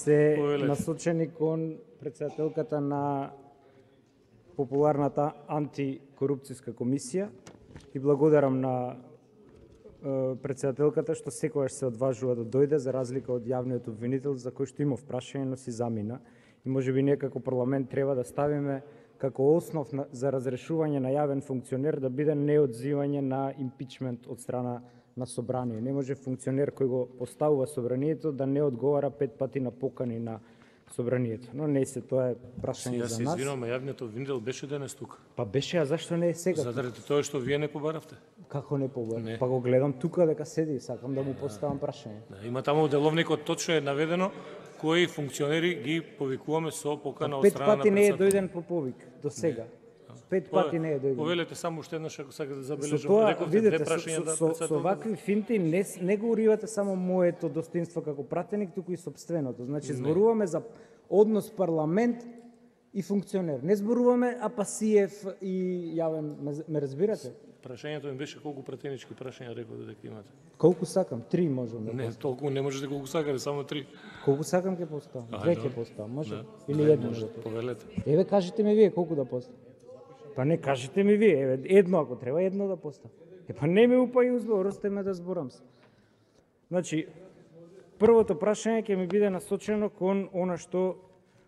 се насочени кон председателката на популарната антикорупцијска комисија и благодарам на председателката што секогаш се одважува да дојде, за разлика од јавниот обвинител за кој што имав прашање, но си замина. И можеби ние како парламент треба да ставиме како основ за разрешување на јавен функционер да биде неодзивање на импичмент од страна на собрание. Не може функционер кој го поставува собранието да не одговара 5 пати на покани на собранието. Но не се, тоа е прашање за нас. Јас се извинувам, јавниот обвинител беше денес тука. Па беше, а зашто не е сега? Заради тоа што вие не побаравте. Како не побарав? Па го гледам тука дека седи и сакам да му поставам прашање. Има таму во деловникот точно е наведено кои функционери ги повикуваме со покана од страна на 5 пати не е дојден по повик до сега. 5 пати не е дојден. Повелете само уште еднаш ако сакате да забележам. Со тоа, видите, со вакви финти не го уривате само моето достоинство како пратеник, туку и собственото. Значи, зборуваме за однос парламент и функционер. Не зборуваме Апасиев и јавен, ме разбирате? Прашањето ми беше колку пратенички прашања рекол дека имате. Колку сакам? 3 можам да Не, толку не можете колку сакате, само 3. Колку сакам ќе поставам? 2 ќе поставам, може? Или едно да поставам? Повелете. Еве, кажете ми вие колку да поставам. Па не, кажете ми вие, еве, едно ако треба, едно да поставам. Па не ме упај узбор, остаме да зборам се. Значи, првото прашање ќе ми биде насочено кон она што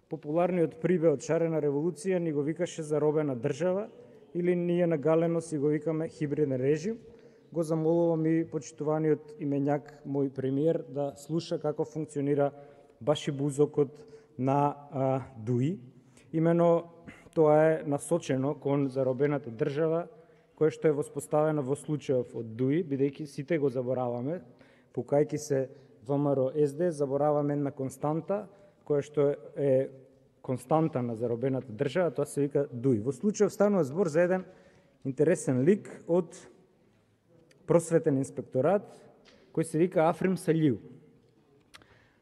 популарниот прибе од шарена револуција ни го викаше заробена држава, или ние на галено си го викаме хибриден режим. Го замолувам и почитуваниот именјак мој премиер да слуша како функционира баш и бузокот на ДУИ. Имено тоа е насочено кон заробената држава, која што е воспоставена во случајов од ДУИ, бидејќи сите го забораваме, пукајќи се ВМРО СД, забораваме една константа, која што е константа на заробената држава, тоа се вика ДУИ. Во случајов станува збор за еден интересен лик од просветен инспекторат, кој се вика Африм Салиу.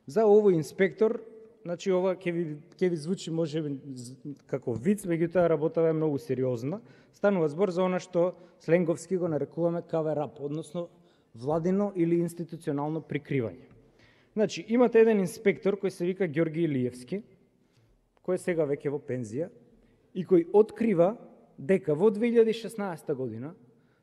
За овој инспектор, значи ова ќе ви звучи можеби како виц, меѓутоа работава е многу сериозна. Станува збор за она што сленговски го нарекуваме кавер-ап, односно владино или институционално прикривање. Значи, имате еден инспектор кој се вика Ѓорги Илиевски, кој е сега веќе во пензија, и кој открива дека во 2016 година,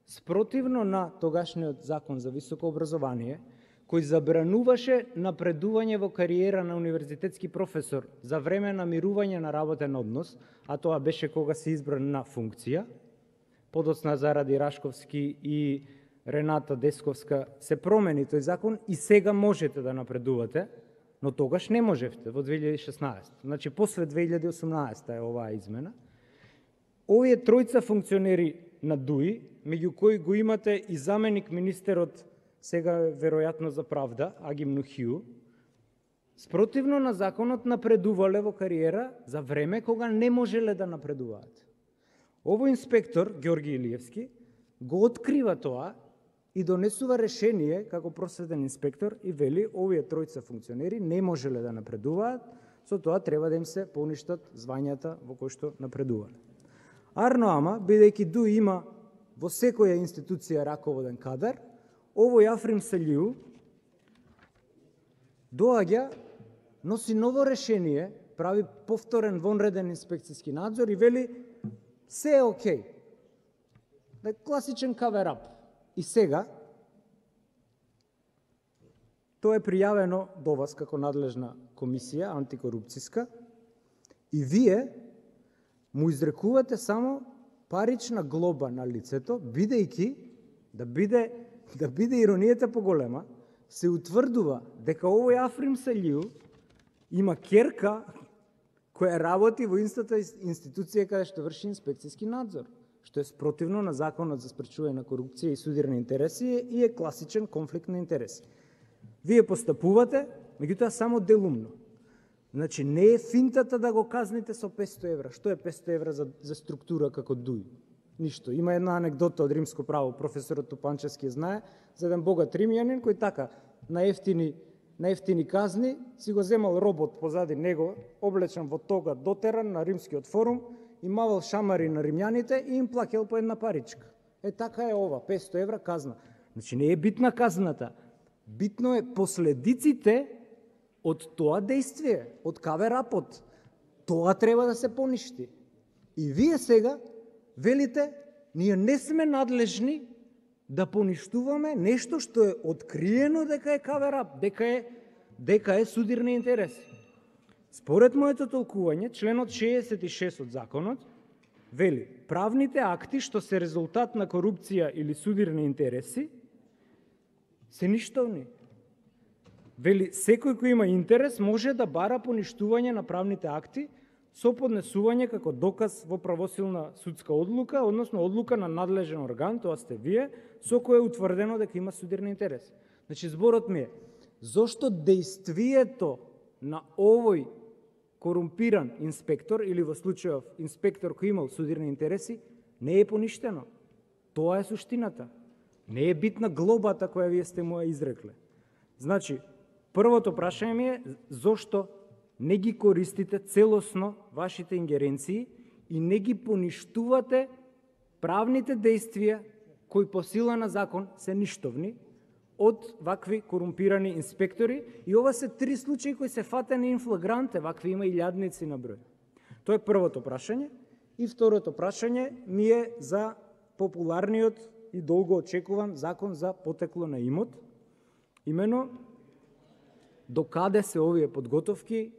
спротивно на тогашниот закон за високо образование, кој забрануваше напредување во кариера на универзитетски професор за време на мирување на работен однос, а тоа беше кога се избран на функција, подоцна заради Рашковски и Рената Десковска се промени тој закон и сега можете да напредувате, но тогаш не можевте во 2016. Значи, после 2018 е оваа измена. Овие тројца функционери на ДУИ, меѓу кои го имате и заменик министерот, сега веројатно за правда, Агим Нухиу, спротивно на законот напредувале во кариера за време кога не можеле да напредуваат. Овој инспектор, Ѓорги Илиевски, го открива тоа и донесува решение како просветен инспектор и вели овие тројца функционери не можеле да напредуваат, со тоа треба да им се поништат звањата во кои што напредувале. Арно ама, бидејќи ДУИ има во секоја институција раководен кадар, овој Африм Салиу доаѓа, носи ново решение, прави повторен вонреден инспекцијски надзор и вели се е окей. Класичен кавер-ап. И сега, тоа е пријавено до вас како надлежна комисија, антикорупцијска, и вие му изрекувате само парична глоба на лицето, бидејќи, да биде иронијата поголема, се утврдува дека овој Африм Салиу има ќерка која работи во истата институција каде што врши инспекцијски надзор, што е спротивно на законот за спречување на корупција и судирани интереси и е класичен конфликт на интереси. Вие постапувате, меѓутоа само делумно. Значи, не е финтата да го казните со 500 евра. Што е 500 евра за структура како ДУИ? Ништо. Има една анекдота од римско право, професорот Тупанчевски знае, за еден богат римјанин кој така на ефтини казни си го земал робот позади него, облечен во тога дотеран на римскиот форум, и мавал шамари на римјаните и им плакел по една паричка. Е, така е ова, 500 евра казна. Значи, не е битна казната. Битно е последиците од тоа дејствие, од каверапот. Тоа треба да се поништи. И вие сега велите, ние не сме надлежни да поништуваме нешто што е откриено дека е каверап, дека е судирни интереси. Според моето толкување, членот 66 од законот вели, правните акти што се резултат на корупција или судирни интереси се ништовни. Вели, секој кој има интерес може да бара поништување на правните акти со поднесување како доказ во правосилна судска одлука, односно одлука на надлежен орган, тоа сте вие, со кој е утврдено дека има судирни интереси. Значи, зборот ми е, зошто дејствието на овој корумпиран инспектор, или во случајов инспектор кој имал судирни интереси, не е поништено. Тоа е суштината. Не е битна глобата која вие сте му ја изрекле. Значи, првото прашање ми е, зошто не ги користите целосно вашите ингеренции и не ги поништувате правните дејствија кои по сила на закон се ништовни од вакви корумпирани инспектори, и ова се 3 случаи кои се фатени ин флагранте, вакви има илјадници на број. Тоа е првото прашање. И второто прашање ми е за популарниот и долго очекуван закон за потекло на имот. Имено, докаде се овие подготовки,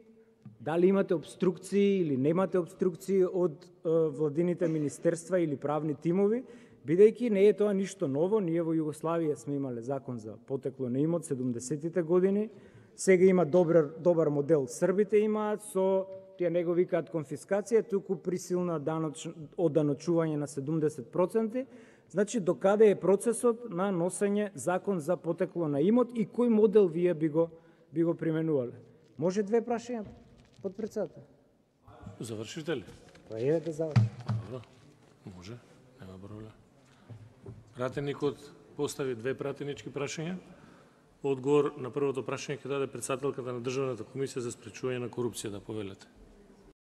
дали имате обструкции или немате обструкции од владините министерства или правни тимови, бидејќи не е тоа ништо ново. Ние во Југославија сме имале закон за потекло на имот 70-тите години, сега има добар модел србите имаат, со тие него викаат конфискација, туку присилна оданочување на 70%. Значи, докаде е процесот на носење закон за потекло на имот и кој модел вие би го применувале? Може 2 прашања, подпредседател? Завршите ли? Па е да заврши. Добро, може, нема проблем. Пратеникот постави 2 пратенички прашања. Одговор на првото прашање ќе даде председателката на Државната комисија за спречување на корупција, да повелете.